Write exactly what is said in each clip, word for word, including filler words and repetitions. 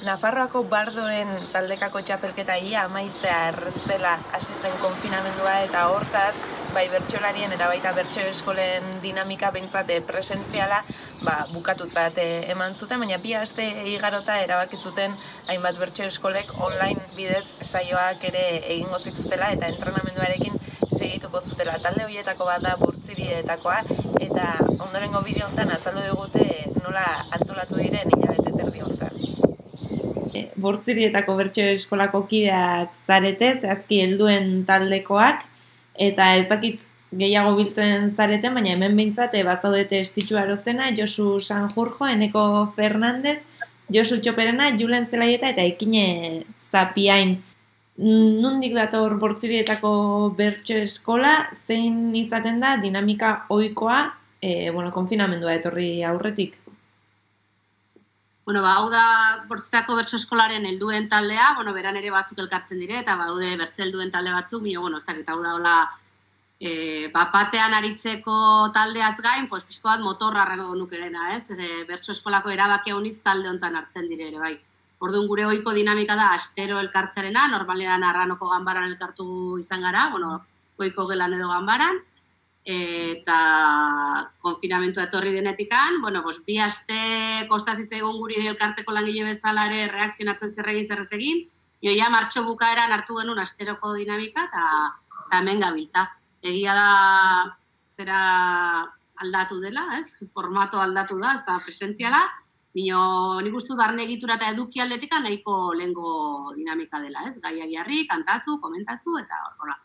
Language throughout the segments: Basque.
Nafarroako bardoen taldekako txapelketa ia amaitzea errezela hasi zen konfinamendua eta hortaz, bai bertsolarien eta baita bertso eskolen dinamika behintzat presentziala ba, bukatutzat eman zuten, baina bi aste igarota erabaki zuten hainbat bertso eskolek online bidez saioak ere egingo zituztela eta entrenamenduarekin segituko zutela. Talde horietako bat da Burtzirietakoa eta ondorengo bideo honetan azaldu digute nola antolatu diren hilabete terdi honetan. Burtzirietako bertso eskolako kideak zarete, zehazki helduen taldekoak, eta ez dakit gehiago biltzen zareten, baina hemen behintzat bazaudete Estitxu Arozena, Josu Sanjurjo, Eneko Fernandez, Josu Txoperena, Julen Zelaieta eta Ekine Zapiain. Nondik dator Burtzirietako bertso eskola, zein izaten da dinamika ohikoa, e, bueno, konfinamendua etorri aurretik? Bueno, ba, hau da Bortzitako bertso eskolaren helduen taldea, bueno, beran ere batzuk elkartzen dire, eta baude bertso helduen talde batzuk, mino, bueno, ez dakit, hau da, hola, e, bapatean aritzeko taldeaz gain, pues, pixko bat motorra arrego nukerena, ez? E, bertso eskolako erabakia uniz talde hontan hartzen dire ere, bai. Orduan gure ohiko dinamika da astero elkartzarena, normalean Arranoko ganbaran elkartu izan gara, bueno, goiko gelan edo ganbaran, eta konfinamentua etorri denetikan, bueno, pues, bi aste kostazitza egon guri elkarteko langile bezala ere reakzionatzen zerregin zerrez egin, joia martxo bukaeran hartu genuen asteroko dinamika, eta hemen gabiltza. Egia da zera aldatu dela, ez? Formato aldatu da, eta presentziala, nio nik uste barne egitura eta eduki aldetikan nahiko lehengo dinamika dela, ez? Gaia jarri, kantatu, komentatu, eta horrela.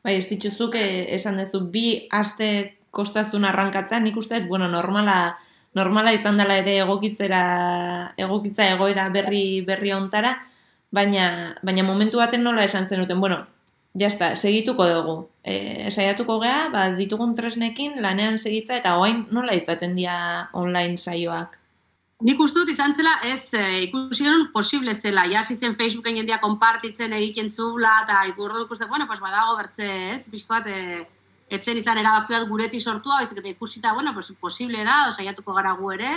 Bai, ez dituzuk esan duzu, bi aste kostazun arrankatzea, nik uste, bueno, normala, normala izan dela ere egokitzera, egokitza egoera berri berri ontara, baina, baina momentu baten nola esan zenuten, bueno, jazta, segituko dugu. E, saiatuko gea, ba, ditugun tresnekin lanean segitza, eta oain nola izaten dira online saioak? Nik uste dut izan zela, ez e, ikusi genuen posible zela, ja zen Facebooken jendia konpartitzen egiten zula, eta ikurro ikusten, bueno, pues badago bertze, ez, pixko bat, e, etzen izan erabaki bat guretik sortua, baizik eta ikusita, bueno, pues posible da, saiatuko gara gu ere,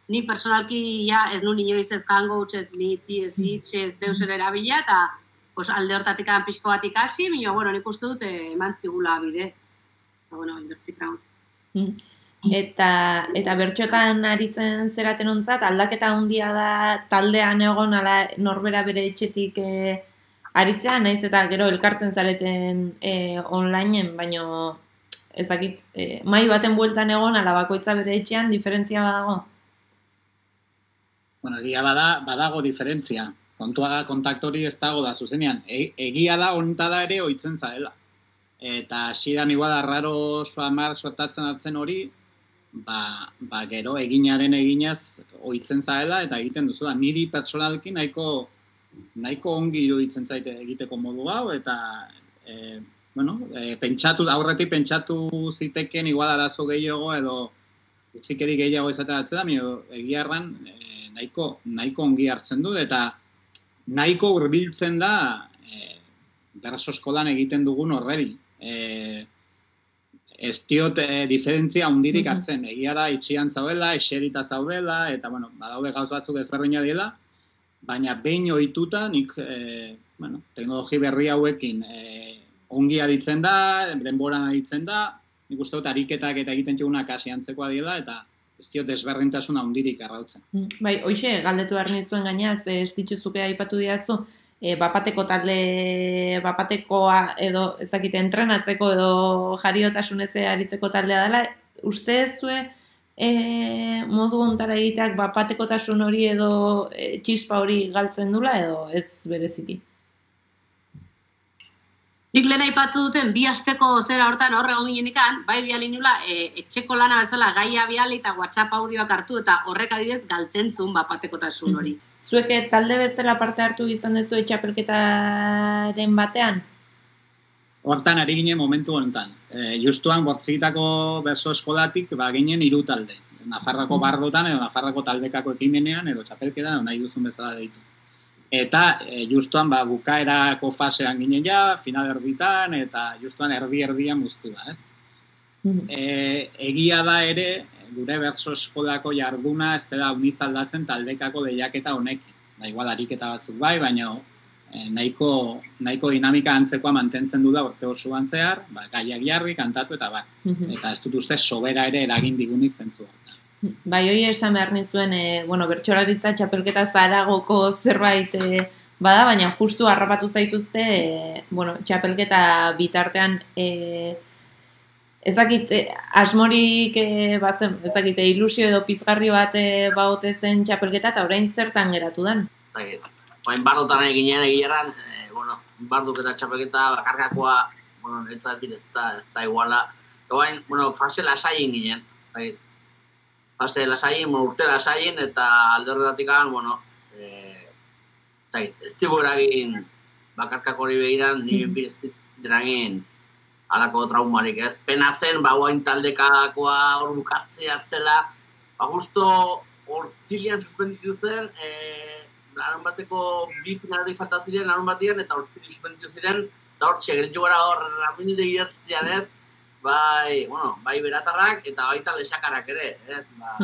ni personalki ja ez nun inoiz ez Hangouts, ez Meet, ez Hitch, ez deusen erabila, eta pues, alde hortatik pixko bat ikasi, baina, bueno, nik uste dut e, eman zigula bide, eta, bueno, inbertzik raun. Mm. Eta, eta bertxotan aritzen zeraten ontzat, aldaketa handia da taldean egon ala norbera bere etxetik e, aritzea, naiz eta gero elkartzen zareten e, onlineen, baino ezakit, e, mai baten bueltan egon ala bakoitza bere etxean, diferentzia badago? Bueno, egia bada, badago diferentzia. Kontua kontaktori ez dago da zuzenean. E, egia da ontada ere ohitzen zaela. Eta hasidan igual arraro soamar sortatzen hartzen hori, Ba, ba, gero eginaren eginaz ohitzen zaela eta egiten duzu da. Niri pertsonalki nahiko, nahiko ongi iruditzen zaite egiteko modu hau eta e, bueno, e, pentsatu, aurretik pentsatu ziteken igual arazo gehiago edo utzikeri gehiago izaten hartzen da, mio, egia erran e, nahiko, nahiko ongi hartzen du eta nahiko hurbiltzen da e, berso eskolan egiten dugun horreri. E, Ez diot e, diferentzia hundirik hartzen, egia da itxian zaudela, eserita zaudela, eta bueno, badaude gauz batzuk ezberdina dela, baina behin ohituta nik e, bueno, teknologi berri hauekin e, ongi aritzen da, denboran aritzen da, nik uste dut ariketak eta egiten txugunak hasi antzekoa dela, eta ez diot desberdintasuna hundirik arrautzen. Bai, hoxe, galdetu behar nizuen gaina, ez dituzukea aipatu diazu, E, bapateko talde, bapatekoa edo ezakite entrenatzeko edo jariotasuneze aritzeko taldea dela, uste zue e, modu ontara egiteak bapatekotasun hori edo e, txispa hori galtzen dula edo ez bereziki? Nik lehen aipatu duten bi asteko zera hortan horre egon ginenikan, bai biali nula, e, etxeko lana bezala gaia biali eta WhatsApp audioak hartu eta horrek adibidez galtzen zuen bapatekotasun hori. Zuek talde bezala parte hartu izan dezu txapelketaren batean? Hortan ari ginen momentu honetan. E, justuan Bortzitako berso eskolatik ba, ginen hiru talde. Nafarrako bardotan edo Nafarrako taldekako ekimenean edo txapelketan edo nahi duzun bezala deitu. Eta e, justuan ba, bukaerako fasean ginen ja, final erditan eta justuan erdi-erdian muztu da. Ez? E, egia da ere, gure berso eskolako jarduna ez dela unitz aldatzen taldekako lehiaketa honekin. da igual ariketa batzuk bai, baina eh, nahiko, nahiko dinamika antzekoa mantentzen du da urte osoan zehar, ba, gaiak jarri, kantatu eta bai. Eta ez dut uste sobera ere eragin digunik zentzu. Bai, hori esan behar nizuen, e, bueno, bertsolaritza txapelketa zaragoko zerbait e, bada, baina justu harrapatu zaituzte, e, bueno, txapelketa bitartean e, ezakit, asmorik e, bazen, ezakit, ilusio edo pizgarri bat e, baote zen txapelketa, eta orain zertan geratu den? Bain bardotan eginen egileran, e, bueno, barduk eta txapelketa bakarkakoa, bueno, ez da, ez da, ez da iguala. Bain, bueno, fase lasaien ginen, bai. Fase lasaien, bueno, urte lasaien, eta alde horretatik, bueno, e, ez dugu eragin bakarkako hori begiran, nire mm. ez eragin alako traumarik, ez? Pena zen, ba, guain taldekakoa hor bukatzea zela, ba, justo hor zilian suspenditu zen, e, larun bateko bi finalari falta ziren, larun batean, eta hor zili suspenditu ziren, eta hor txegeritu gara hor ramindide giratzean ez, bai, bueno, bai beratarrak, eta baita lesakarak ere, ez? Ba,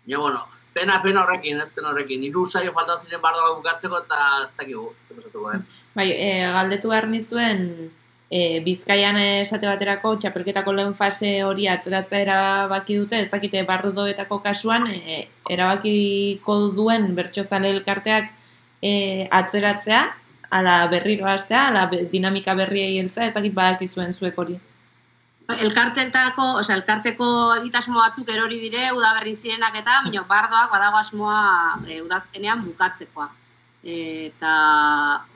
ja, bueno, pena, pena horrekin, ez pena horrekin, hiru saio falta ziren bardoak bukatzeko, eta ez dakigu, zer pasatuko, eh? Bai, e, galdetu behar nizuen, E, Bizkaian esate baterako txapelketako lehen fase hori atzeratzea erabaki dute, ez dakite bardoetako kasuan e, erabakiko duen bertsozale elkarteak e, atzeratzea, ala berriro hastea, ala dinamika berriei heltzea, ez dakit badakizuen zuek hori. Elkarteetako, osea, elkarteko egitasmo batzuk erori dire, udaberri zirenak eta, baina bardoak badago asmoa e, udazkenean bukatzekoa. E, eta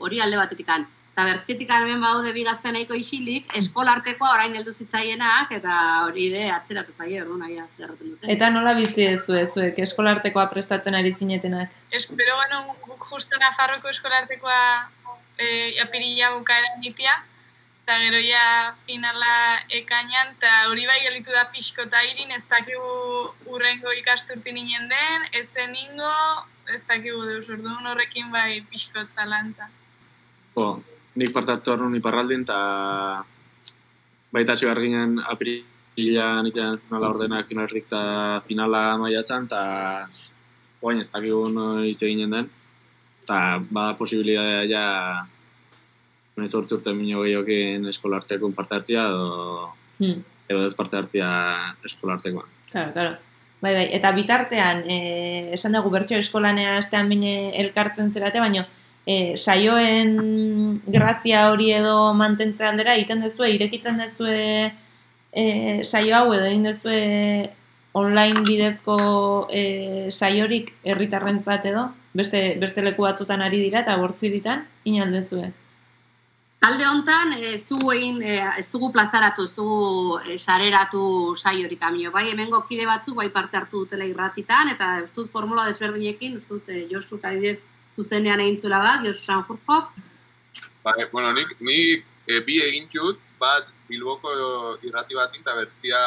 hori alde batetikan. Eta bertzetik hemen baude bi gazte nahiko isilik, eskolartekoa orain heldu zitzaienak, eta hori ere atzeratu zaie, orduan nahi atzeratzen dute. Eta nola bizi ezue, zuek eskolartekoa prestatzen ari zinetenak? Espero genuen guk justo Nafarroko eskolartekoa e, apirila bukaeran gitia, eta gero ja finala ekainan, eta hori bai gelitu da pixko eta irin, ez dakigu urrengo ikasturtin inen den, ez den ingo, ez dakigu deus, orduan horrekin bai pixko zalantza. Oh. Nik partartu arnun iparraldin, eta baita txigar ginen apirilan itean finala ordenak finalrik eta finala maiatzan, eta guain ez dakigu noiz eginen den, eta bada posibilitatea ja noiz hortz urte minio gehiokin eskolartekoen parte hartzia, edo, hmm. edo ez parte hartzia eskolartekoan. Claro, claro. Bai, bai. Eta bitartean, eh, esan dugu bertso eskolanea astean bine elkartzen zerate, baina E, saioen grazia hori edo mantentze aldera, egiten dezue, irekitzen dezue e, saio hau edo egin dezue online bidezko e, saiorik herritarrentzat edo, beste, beste leku batzutan ari dira eta bortzi ditan, inaldezue. Alde hontan ez dugu egin, ez dugu plazaratu, ez dugu sareratu saiorik amio. Bai, hemengo kide batzuk bai parte hartu dutela irratitan, eta ez dut formula desberdinekin, ez dut Josu Kadidez zuzenean egin zuela bat, Josu Sanjurjok. Ba, bueno, nik, nik e, bi egin txut, bat Bilboko irrati batin, eta bertzia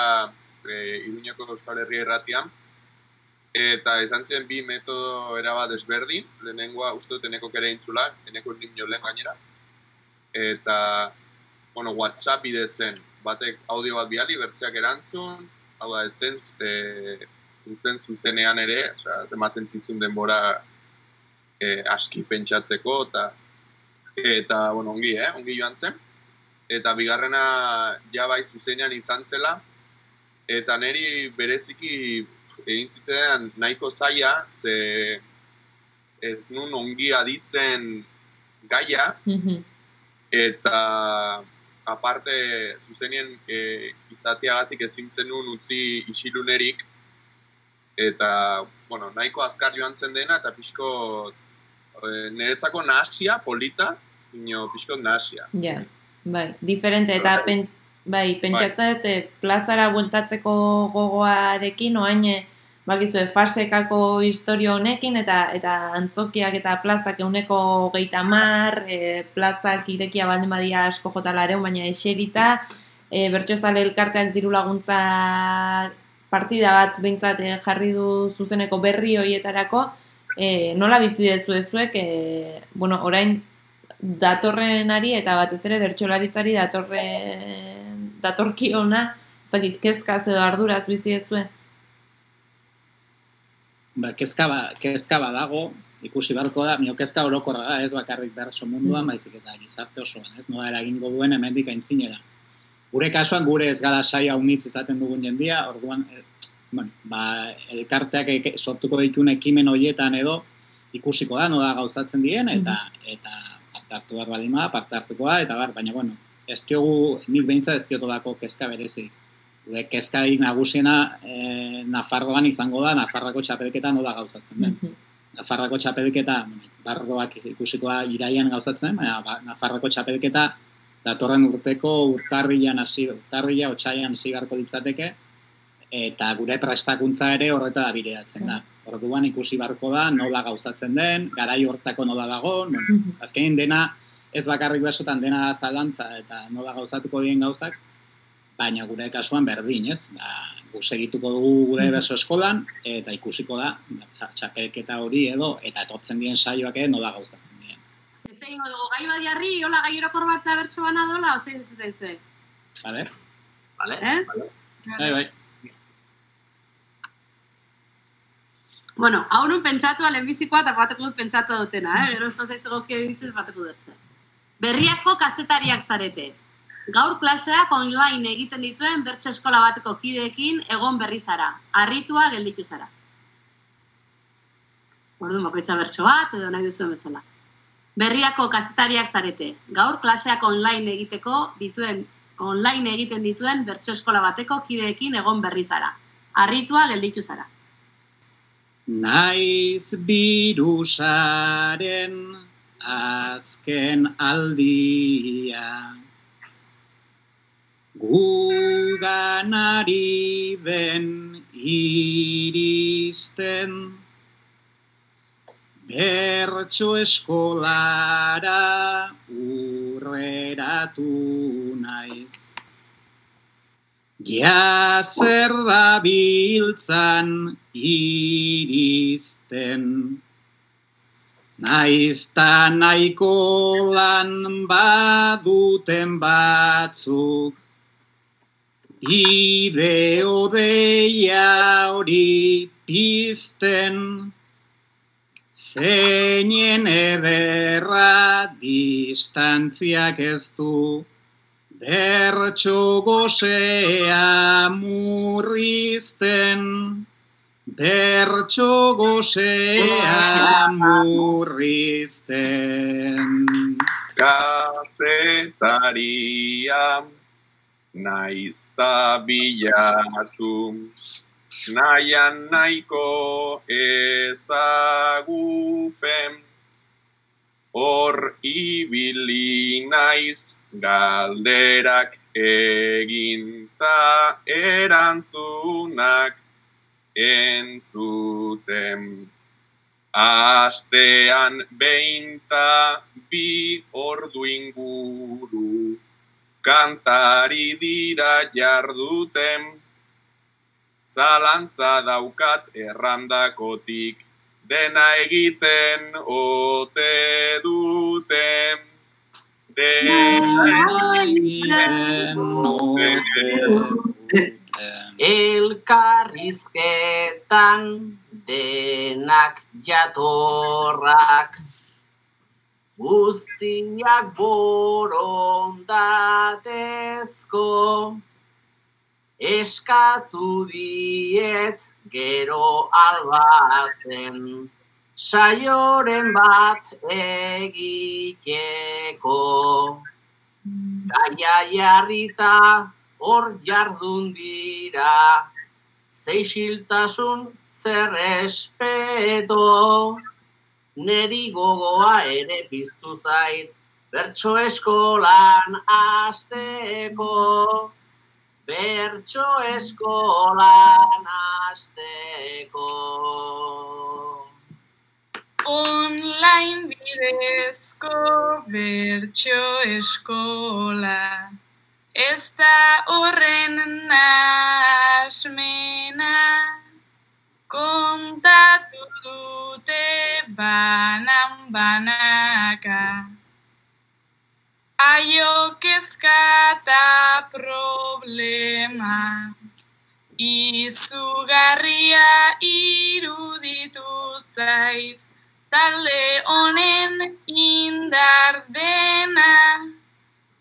e, Iruñeko Euskal Herria irratian. Eta izan zen bi metodo erabat desberdin, lehenengoa uste dut eneko kere intzula, eneko nio lehen gainera. Eta, bueno, WhatsApp bidez zen, batek audio bat biali, bertzeak erantzun, hau da, etzen, e, zuzen zuzenean ere, osea, ematen zizun denbora E, aski pentsatzeko, eta, eta bueno, ongi, eh? ongi joan zen. Eta bigarrena ja bai zuzenean izan zela, eta niri bereziki egin zitzen nahiko zaila, ze ez nun ongi aditzen gaia, mm-hmm. eta aparte zuzenien e, izateagatik ezin zenun utzi isilunerik, eta bueno, nahiko azkar joan zen dena, eta pixko niretzako nahasia, polita, ino pixko nahasia. Ja, bai, diferente, eta pen, bai, pentsatzat bai. Plazara bueltatzeko gogoarekin, oain, bakizue, fasekako historio honekin, eta eta antzokiak eta plazak euneko geita mar, e, plazak irekia baldin badia asko jotalareun, baina eserita, e, bertsozale elkarteak diru laguntza partida bat behintzat jarri du zuzeneko berri horietarako, e, nola bizi dezu ezuek, e, bueno, orain datorrenari eta batez ere bertsolaritzari datorren datorkiona, ezakit, kezkaz edo arduraz bizi dezue? Ba, kezka, ba, kezka badago, ikusi beharko da, nio kezka orokorra da, ez bakarrik bertso munduan, baizik eta gizarte osoan, ez, nola eragingo duen hemendik aintzinera. Gure kasuan, gure ez gara saia unitz izaten dugun jendia, orduan, e, bueno, ba, elkarteak sortuko ditun ekimen horietan edo, ikusiko da, nola gauzatzen diren, eta, eta parte hartu behar balima, parte hartuko da, eta bar, baina, bueno, ez diogu, nik behintzat ez diotolako kezka berezi. Gure kezkarik nagusiena e, Nafarroan izango da, Nafarrako txapelketa nola gauzatzen den. Nafarrako txapelketa, Barroak ikusikoa iraian gauzatzen, baina ba, Nafarrako txapelketa datorren urteko urtarrilan hasi, urtarrila otsailean hasi beharko litzateke, eta gure prestakuntza ere horreta da bideratzen da. Orduan ikusi beharko da nola gauzatzen den, garai hortako nola dago, azkenin dena ez bakarrik besotan dena zalantza eta nola gauzatuko diren gauzak, baina gure kasuan berdin, ez? Ba, gu segituko dugu gure beso eskolan, eta ikusiko da, txapelketa hori edo, eta etortzen diren saioak ere nola gauzatzen diren. Ez egin dugu, gai badiarri, hola gai orokor bat bertso bana dola, ozein ez ez ez? Vale? Vale? Eh? Bai, bai. Bueno, hau nun pentsatua lehenbizikoa eta bateko dut pentsatu dutena, eh? Gero esko zaizu gokia ditzez bateko dut. Berriako kazetariak zarete. Gaur klaseak online egiten dituen bertso eskola bateko kideekin egon berri zara. Harritua gelditu zara. Orduan bakoitza bertso bat edo nahi duzuen bezala. Berriako kazetariak zarete. Gaur klaseak online egiteko dituen online egiten dituen bertso eskola bateko kideekin egon berri zara. Harritua gelditu zara. Naiz birusaren azken aldia, guganari den iristen, bertso eskolara urreratu naiz. Ja zer da biltzan iristen, naizta nahiko lan baduten batzuk, ideo deia hori pizten, zeinen ederra distantziak ez du, bertso gozea murrizten, bertso gozea murrizten. Kazetaria naizta bilatu, nahian nahiko ezagupen, hor ibili naiz galderak eginta erantzunak entzuten. Astean beinta bi ordu inguru kantari dira jarduten, zalantza daukat errandakotik, dena egiten ote duten, dena egiten ote duten. Elkarrizketan denak jatorrak, guztiak borondatezko, eskatu diet gero albazen, saioren bat egiteko. Gaia jarrita hor jardun dira, zeixiltasun zer espeto, neri gogoa ere piztu zait, bertso eskolan hasteko, bertso eskolan hasteko. Online bidezko bertso eskola, ez da horren nahasmena, kontatu dute banan banaka. Aio kezka eta problema, izugarria iruditu zait, talde honen indar dena,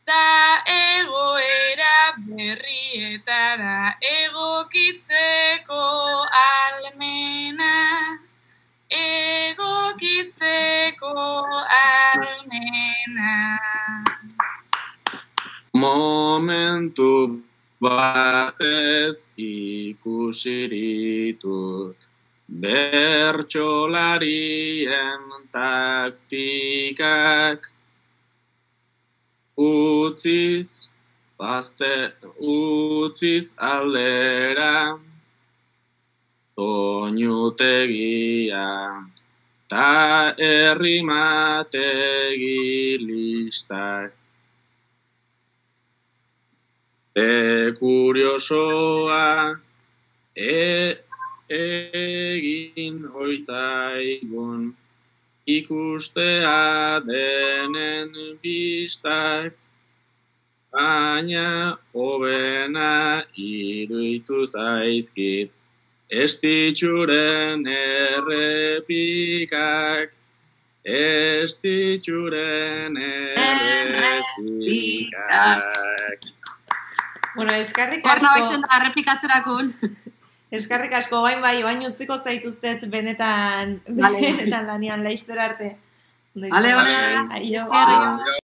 ta egoera berrietara egokitzeko almena, egokitzeko almena. Momentu batez ikusiritut bertsolarien taktikak, utziz, bazte, utziz aldera, soinutegia, ta errimategi listak. E kuriosoa e, egin oizaigun ikustea denen bistak, baina hobena iruditu zaizkit estitxuren errepikak, estitxuren errepikak. Bueno, eskarrik Horna asko. baitzen da, errepikatzerakun. Eskarrik asko, bain bai, bain utziko zaituztet benetan, Vale. benetan lanian, laizter arte. Vale, vale. Aio. Eskerrik. Aio.